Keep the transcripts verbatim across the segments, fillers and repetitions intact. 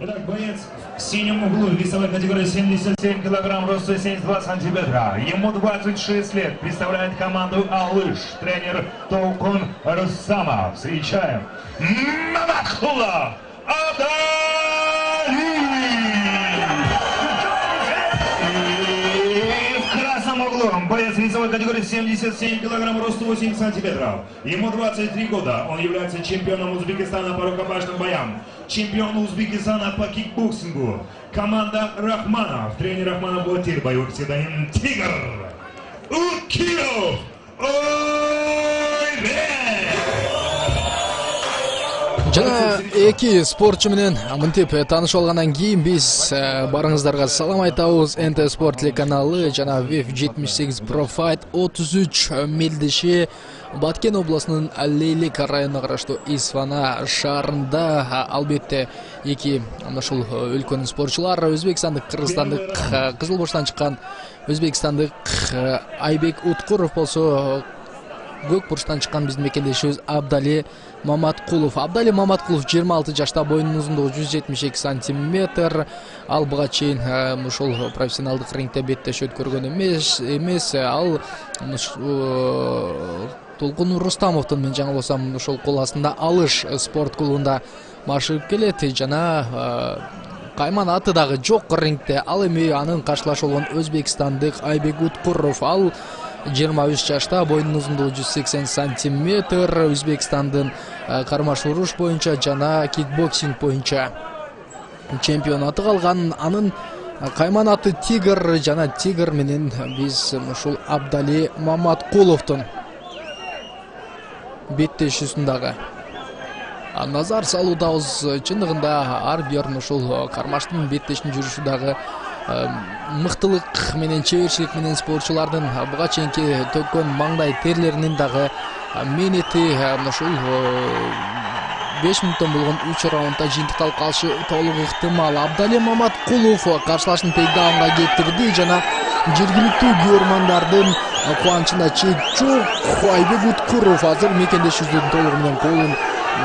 Итак, боец в синем углу, весовой категории семьдесят семь килограмм, роста семьдесят два сантиметра. Ему двадцать шесть лет. Представляет команду «Алыш». Тренер Толкун Рустамов. Встречаем Маматкулов Абдали! Боец весовой категории семьдесят семь килограмм, рост восемь сантиметров. Ему двадцать три года. Он является чемпионом Узбекистана по рукопашным боям, чемпион Узбекистана по кикбоксингу. Команда Рахманов. Тренер Рахманов Батир, боевой псевдоним Тигр. Укилов! Жана эки спортчу менен мынтип таанышып алгандан кийин биз барыңыздарга салам айтабыз. эн тэ спорт телеканалы жана веф жетимиш сегиз Pro Fight отуз үч мелдеши Баткен областынын Лейлек районуна караштуу Исфана шаарында. Албетте эки ушул өлкөнүн спортчулары өзбекстандык, кыргызстандык, Кызыл Бурчтан чыккан өзбекстандык Айбек Уткуров болсо Көк Бурчтан чыккан биздин мекендешибиз Абдали Маматкулов. Абдали Маматкулов жыйырма алты жашта, боюнун узундугу жүз жетимиш эки сантиметр. Ал буга чейин ушул профессионалдык рингте беттеш өткөргөн эмес. Эмес ал Толкун Рустамовдун, мен жаңылбасам, ошол кол астында Алыш спорт клубунда машыгып келет жана кайман аты дагы жок рингте. Ал эми анын каршылашы болгон өзбекстандык Айбек Уткуров. Ал жыйырма үч жашта, боюнун узундугу жүз сексен сантиметр. Өзбекстандын кармаш уруш боюнча жана кикбоксинг боюнча чемпион атык алган. Анын кайман аты Тигр жана Тигр менен биз ушул Абдали Маматкуловдун беттешүүсүн дагы назар салуудабыз. Чындыгында ар бир ушул кармаштын беттешин жүрүшү дагы мыктылык менен, чеберчилик менен спортчулардын буга чейинки төккөн маңдай терлеринин дагы мээнети ушул беш мүнөттөн болгон үч раундда жыйынтыкталып калышы толук ыктымал. Абдали Маматкулов каршылашын тейкдаунга кетирди жана жергиликтүү көрмандардын кубанычына чек жок. Айбек Уткуров азыр мекендешибиздин толугу менен колун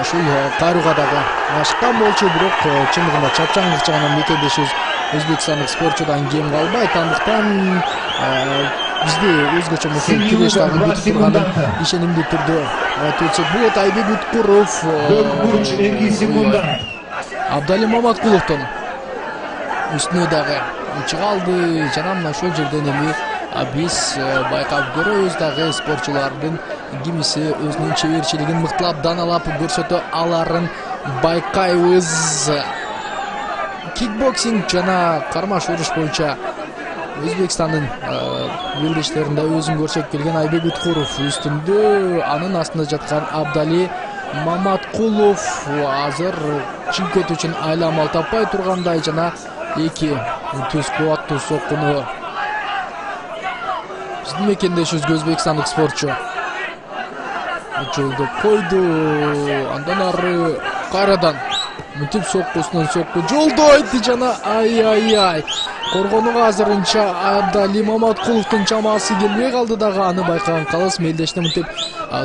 ушул кайрууга дагы ашкан болчу, бирок чындыгында чапчаңдык жагынан мекендешибиз өзбекстандык спортчудан кем калбайт. Андыктан бизди өзгөчө мыкты киреш дагы күтүп турганын ишенимдүү түрдө айтып өтсөк болот. Айбек Уткуров эки секунда Абдали Маматкуловдун үстүнө дагы чыга алды жана мына ошол жерден эми биз байкап көрөбүз дагы спортчулардын кимиси өзүнүн чеберчилигин мыктылап, даналап көрсөтө аларын байкайбыз. Кикбоксинг жана кармаш уруш боюнча Өзбекстандын белдештеринде өзүн көрсөтүп келген Айбек Уткуров үстүндө, анын астында жаткан Абдали Маматкулов азыр чемпиондук үчүн айламал таппай тургандай жана эки төз кубаттуу соккуну биздин мекендешибизге өзбекстандык спортчу жолдоп койду. Андан ары кайрадан мынтип соккусунан сокку жолдойт жана ай-ай-ай. Коргонуга азырынча Абдали Маматкуловдун чамасы келбей калды дагы. Аны байкаган калыс мелдешти мынтип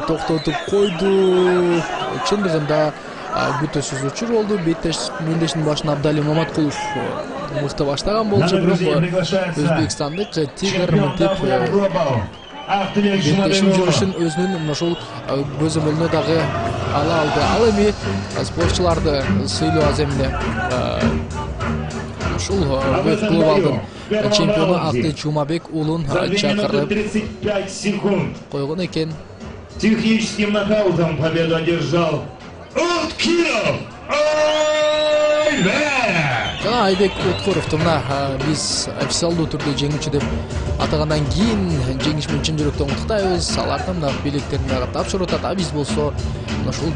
токтотуп койду. Чындыгында күтүүсүз учур болду. Беттеш мелдештин башына Абдали Маматкулов мыкты баштаган болчу, бирок өзбекстандык Тигр мынтип беттешин жүрүшүн өзүнүн ушул көзөмөлүнө дагы ала алды. Ал эми спортчуларды сыйлоо аземинде ушул Веф клубалдын чемпиону Акты Чумабек уулун чакырып койгон экен. Техническим нокаутом победу одержал Уткилов жана Айбек Уткуровду мына биз официалдуу түрдө жеңүүчү деп атагандан кийин жеңиш менен чын жүрөктөн куттуктайбыз. Алардын мына билектерин дагы тапшырып атат. А биз болсо ушул